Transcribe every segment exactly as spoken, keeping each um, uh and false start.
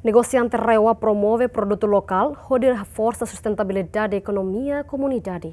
Negosiante RAEOA promove produtu lokál hodi haforsa sustentabilidade ekonomia komunidade.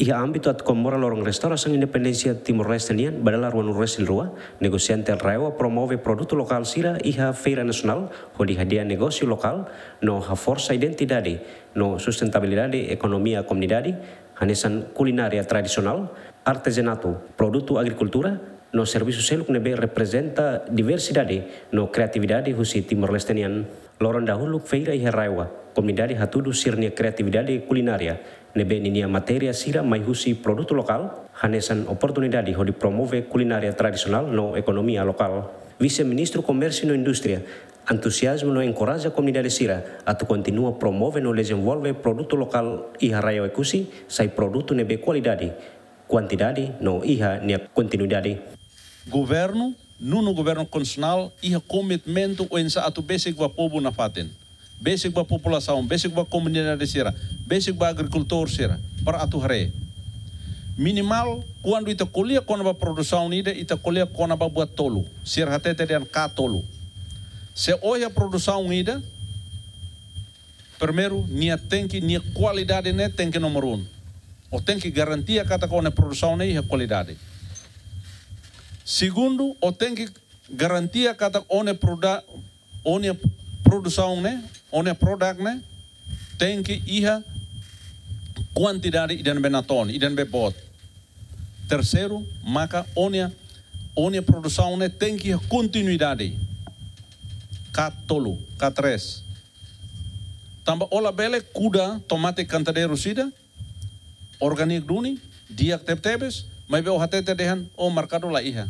Iha ámbitu atu komemora loron restaurasaun independénsia Timor-Leste nian ba dala ruanulu-resin-rua, negosiante RAEOA promove produtu lokál sira iha feira nasionál hodi hadi'a negósiu lokál no haforsa identidade no sustentabilidade ekonomia komunidade, hanesan kulinária tradisionál, artezanatu, produtu agrikultura, no servisu seluk ne'ebé reprezenta diversidade no kreatividade husi Timor-Leste nian. Loron dahuluk feira iha RAEOA, komunidade hatudu sira-nia kreatividade kulinária, ne'ebé ninia matéria sira mai husi produtu lokál, hanesan oportunidade hodi promove kulinária tradisionál no ekonomia lokál. Vise-Ministru Komérsiu no Indústria entuziazmu no enkoraja komunidade sira atu kontinua promove no dezenvolve produtu lokál iha rai Oekusi, sai produtu ne'ebé kualidade, kuantidade no iha nia kontinuidade. Governu, nonu governu konstitusionál iha komitmentu oinsá atu besik ba povu nafatin, besik ba populasaun, besik ba komunidade sira, besik ba agrikultór sira, para atu haree. Minimal, kuandu ita ko'alia kona-ba produsaun ida, ita ko'alia kona-ba buat tolu. Sira hatete dehan ka tolu. Se ó iha produsaun ida, primeiru, nia tenke, nia kualidade ne'e tenke númeru un. Ó tenke garantia katak ó-nia produsaun ne'e iha kualidade. Segundu, ó tenke garantia katak ó-nia proda-, ó-nia produsaun ne'e, ó-nia produk ne'e, tenke iha kuantidade ida ne'ebé natoon, ida ne'ebé boot. Terseiru, maka ó-nia, ó-nia produsaun ne'e tenke iha kontinuidade. Ka tolu, ka tres. Tanba ó labele kuda tomate kantadeiru sira, orgániku duni, di'ak tebetebes, maibé ó hatete dehan, ó merkadu la iha.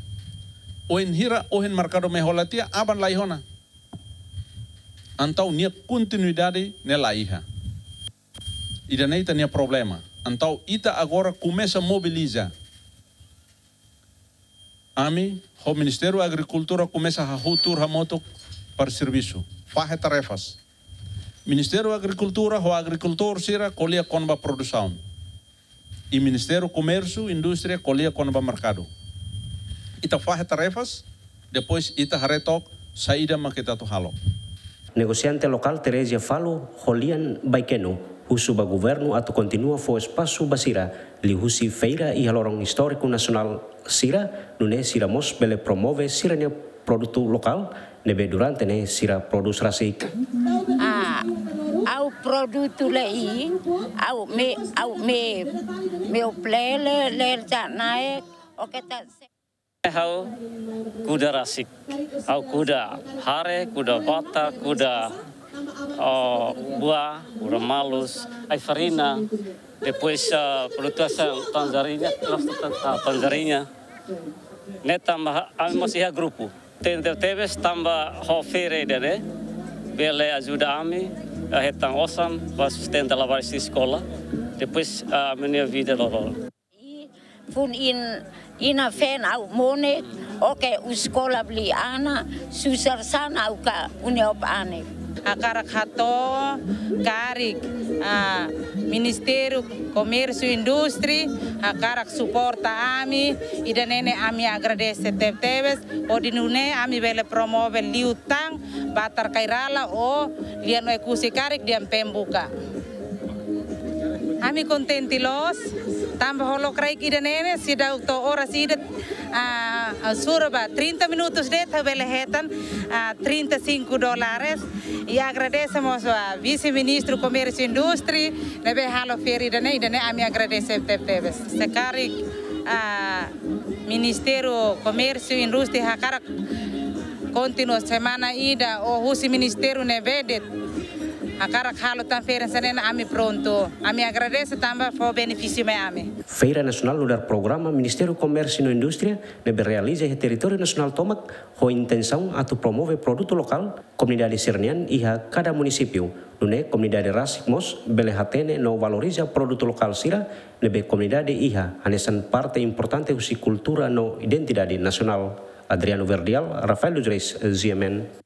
Wainhira ohin merkadu mai hola tiha, aban la iha ona. Entaun nia kontinuidade ne'e la iha. Ida-ne'e ita-nia problema. Entaun ita agora komesa mobiliza. Ami, ho Ministériu Agrikultura komesa hahú tuur hamutuk para servisu. Fahe tarefas. Ministériu Agrikultura ho agrikultór sira ko'alia kona-ba produsaun. I Ministériu Komérsiu, Indústria ko'alia kona-ba merkadu. Ita fahe tarefas, depois ita haree took saida mak ita atu halo. Negosiante lokál Teresia Falo ho lian Baikeno husu ba governu atu kontinua fó espasu ba sira liuhusi feira iha loron istóriku nasionál sira, nune'e sira mós bele promove sira-nia produtu lokál ne'ebé durante ne'e sira prodús rasik. Ah, ha'u produtu lei, ha'u me, ha'u me, me oplele, ler ja naik, oke tak. Ha'u kuda rasik, ha'u kuda hare, kuda bata, kuda, oh, buah, kuda malus, ai-farina, depois, ah, produtu hanesan tanzariña, gosta tan-, ah, tanzariña. Ne'e tanba ami mós iha grupu. Tebetebes tanba ho feira ida-ne'e, bele ajuda ami, ah, hetan osan, ba sustenta labarik sira eskola. Depois, ah, ami-nia vida loroloron. I fun in, inan-feton ha'u monek, oke, eskola beli ana, susar sana ha'u ka uni op ane. Hakarak hato'o karik, ah, Ministériu Komérsiu Indústria, hakarak suporta ami, ida-ne'e ne'e ami agradese tebetebes, hodi nune'e ami bele promove liután, batar kairala ho lian Oekusi karik dehan pembuka. Ami kontente loos, tanba ho lokraik ida-ne'e ne'e, seidauk to'o oras ida, ah, ah, sura ba trinta minutus de'it ha'u bele hetan, ah, trinta e cinco dólares. I agradese mós ba Vise-Ministru Komérsiu Indústria, ne'ebé halo feira ida-ne'e, ida-ne'e ami agradese tebetebes. Se karik, ah, Ministériu Komérsiu Indústria hakarak kontinua semana ida, ou husi ministériu ne'ebé de'it hakarak halo tan feira hanesan ne'e, ami prontu. Ami agradese tanba fó benefísiu mai ami. Feira Nasionál nu'udar programa Ministériu Komérsiu no Indústria ne'ebé realiza iha territóriu nasionál tomak ho intensaun atu promove produtu lokál komunidade sira-nian iha kada munisípiu. Nune'e komunidade rasik mós bele hatene no valoriza produtu lokál sira ne'ebé komunidade iha hanesan parte importante husi kultura no identidade nasionál. Adriano Verdial, Rafael dos Reis, G M N.